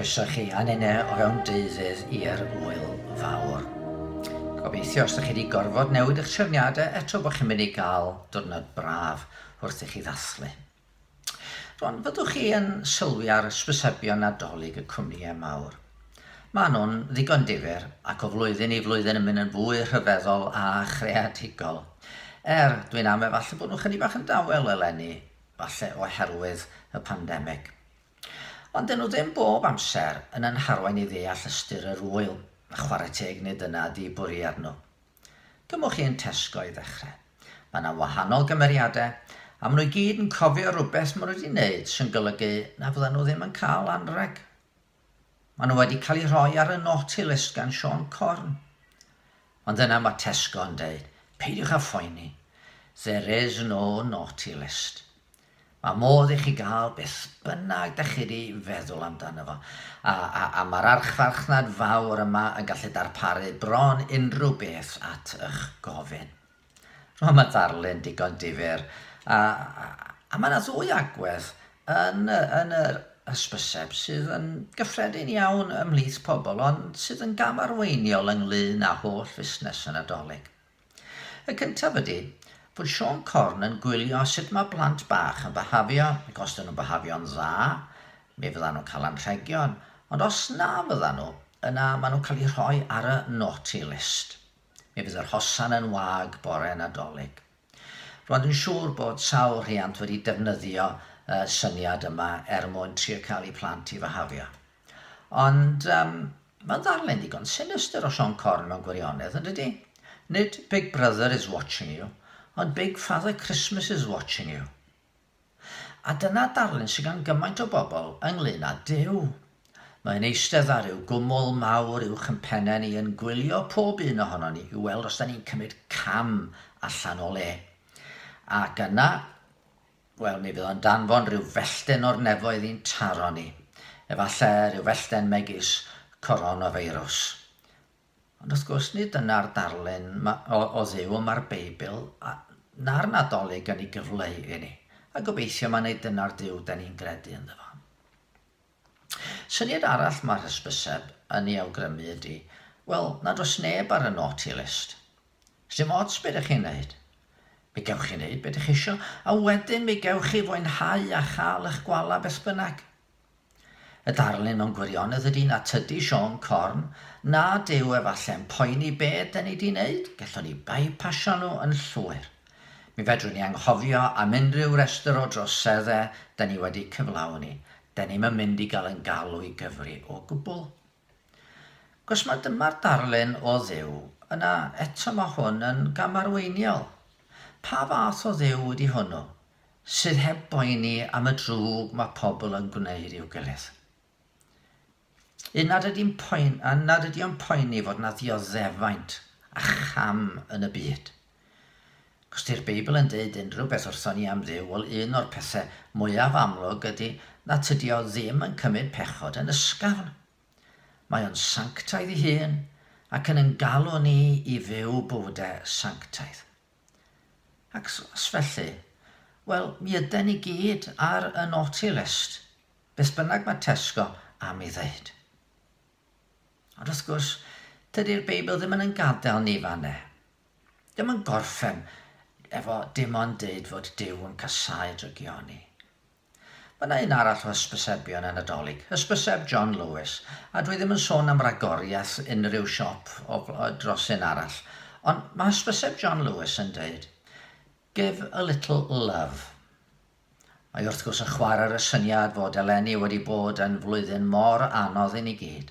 Croeso chi a nene o fewn deuddydd i'r ŵyl fawr. Gobeithio os ydych chi wedi gorfod newid eich trefniadau eto bod chi'n mynd i gael diwrnod braf wrth i chi ddathlu. Rwan, fyddwch chi yn sylwi ar hysbysebion Nadolig y cwmnïau mawr? Maen nhw'n ddigon difyr ac o flwyddyn i flwyddyn yn mynd yn fwy rhyfeddol a chreadigol. Er, dwi'n amau falle bod nhw chydig bach yn dawel eleni, falle oherwydd y pandemig. Ond dyn nhw ddim bob amser yn yn harwain i ddeall ystyr yr ŵyl, a chwarae teg nid dyna ydi bwriad nhw. Cymwch chi yn Tesco i ddechrau. Mae yna wahanol gymeriadau, a maen nhw i gyd yn cofio rhywbeth maen nhw wedi wneud sy'n golygu na fyddan nhw ddim yn cael anrheg. Maen nhw wedi cael eu rhoi ar y naughty list gan Siôn Corn. Ond yna mae Tesco yn deud, peidiwch â phoeni, there is no naughty list. Mae modd i chi gael beth bynnag da chi wedi feddwl amdano fo. A, a, a mae'r archfarchnad fawr yma yn gallu darparu bron unrhyw beth at eich gofyn. Rwan mae darlun digon difyr. A, a, a mae yna ddwy agwedd yn, yn yr hysbyseb sydd yn gyffredin iawn ymhlith pobl, ond sydd yn gamarweiniol ynglyn â holl fusnes y Nadolig. Y cyntaf ydy fod Siôn Corn yn gwylio sut mae plant bach yn byhafio, ac os dyn nhw'n byhafio'n dda, mi fyddan nhw'n cael anrhegion, ond os na fyddan nhw, yna maen nhw'n cael eu rhoi ar y naughty list. Mi fydd yr hosan yn wag bore Nadolig. Rwan dwi'n siŵr bod sawl rhiant wedi defnyddio y syniad yma er mwyn trio cael eu plant i fyhafio. Ond um, mae'n ddarlun digon sinistr o Siôn Corn mewn gwirionedd, yn dydi? Nid Big Brother is watching you, ond Big Father Christmas is watching you. A dyna darlun sydd gan gymaint o bobl ynglyn â Duw. Mae'n eistedd ar ryw gwmwl mawr uwch yn pennau ni yn gwylio pob un ohono ni i weld os da ni'n cymryd cam allan o le. Ac yna, wel, mi fydd o'n danfon rhyw fellten o'r nefoedd i'n taro ni. Efallai rhyw fellten megis coronavirus. Ond wrth gwrs, nid dyna'r darlun o, o Dduw mae'r Beibl a, na'r Nadolig yn ei gyfleu i ni. A gobeithio mae nid dyna'r Duw da ni'n gredu ynddo fo. Syniad arall mae'r hysbyseb yn ei awgrymu ydy, wel, nad oes neb ar y naughty list. Sdim ots beth ydych chi'n neud. Mi gewch chi wneud beth ydych chi isio, a wedyn mi gewch chi fwynhau a chael eich gwala beth bynnag. Y darlun mewn gwirionedd ydy na tydi Siôn Corn, na Duw efallai'n poeni be da ni di wneud, gallwn ni bypasio nhw yn llwyr. Mi fedrwn ni anghofio am unrhyw restr o droseddau da ni wedi cyflawni. Da ni'm yn mynd i gael yn galw i gyfri o gwbl. Cos mae dyma'r darlun o Dduw, yna eto mae hwn yn gamarweiniol. Pa fath o Dduw ydy hwnnw, sydd heb boeni am y drwg mae pobl yn gwneud i'w gilydd? Un nad ydy'n poen, a nad ydy o'n poeni fod na ddioddefaint a cham yn y byd. Cos di'r Beibl yn deud unrhyw beth wrthon ni am Dduw, wel un o'r pethau mwyaf amlwg ydy na tydi o ddim yn cymryd pechod yn ysgafn. Mae o'n sanctaidd ei hun ac yn yn galw ni i fyw bywydau sanctaidd. Ac os felly, wel, mi yden ni gyd ar y naughty list, beth bynnag mae Tesco am ei ddeud. Ond wrth gwrs, tydi'r Beibl ddim yn yn gadael ni fanne. Dim yn gorffen efo dim ond deud fod Duw yn casáu drygioni. Mae yna un arall o hysbysebion yn Nadolig, hysbyseb John Lewis, a dwi ddim yn sôn am ragoriaeth unrhyw siop o, o, dros un arall, ond mae hysbyseb John Lewis yn deud, Give a little love. Mae wrth gwrs yn chwarae ar y syniad fod eleni wedi bod yn flwyddyn mor anodd i ni gyd,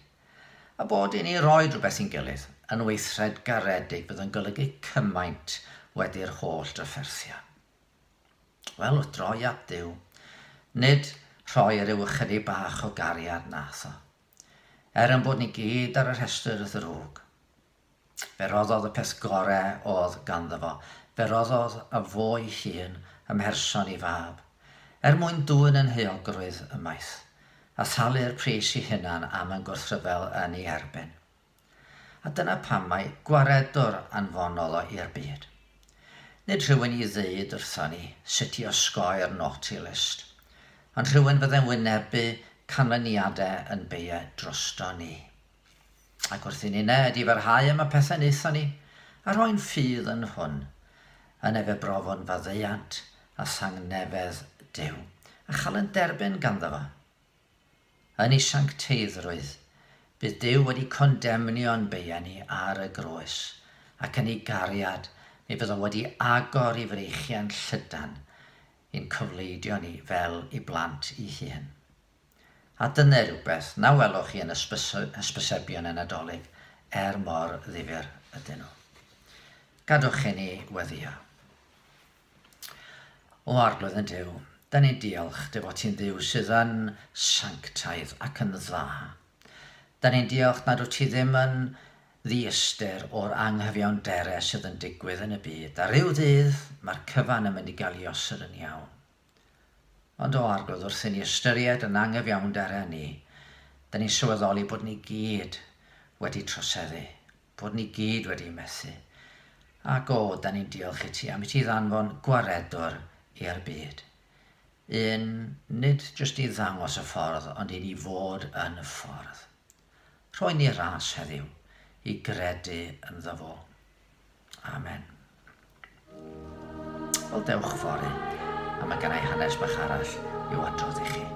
a bod i ni roi rhywbeth i'n gilydd yn weithred garedig fydd yn golygu cymaint wedi'r holl drafferthion. Wel, wrth droi at Dduw, nid rhoi rhyw ychydig bach o gariad nath o. Er yn bod ni gyd ar y rhestr ddrwg. Fe roddodd y peth gore oedd ganddo fo. Fe roddodd y fo ei hun ym mherson ei fab, er mwyn dwyn yn heuogrwydd ymaith, a thalu'r pris ei hunan am yn gwrthryfel yn ei erbyn. A dyna pam mai gwaredwr anfonodd o i'r byd. Nid rhywun i ddeud wrthon ni sut i osgoi'r naughty list, ond rhywun fydde'n wynebu canlyniadau yn beia drosto ni. Ac wrth i ni ned i farhau am y pethau wnaethon ni, a rhoi'n ffydd yn hwn, yn efe brofon faddeuant a thangnefedd Duw, a chael yn derbyn ganddo fo. Yn ei sancteiddrwydd, bydd Duw wedi condemnio'n beia ni ar y groes, ac yn ei gariad, mi fydd o wedi agor i freichiau'n llydan i'n cyfleidio ni fel i blant i hun. A dyna rhywbeth na welwch chi yn hysbysebion y Nadolig er mor ddifyr ydyn nhw. Gadwch i ni weddio. O Arglwydd yn Duw, da ni'n diolch dy fod ti'n Dduw sydd yn sanctaidd ac yn dda. Da ni'n diolch nad wyt ti ddim yn ddiystyr o'r anghyfiawnderau sydd yn digwydd yn y byd, a rhyw ddydd mae'r cyfan yn mynd i gael ei osod yn iawn. Ond o Arglwydd, wrth i ni ystyried yn anghyfiawnderau ni, da ni'n sylweddoli bod ni gyd wedi troseddu, bod ni gyd wedi methu. Ac o, da ni'n diolch i ti am i ti ddanfon gwaredwr i'r byd. Un, nid jyst i ddangos y ffordd, ond i ni fod yn y ffordd. Rhoi ni ras heddiw i gredu ynddo fo. Amen. Wel, dewch fory, a mae gennau hanes bach arall i'w adrodd i chi.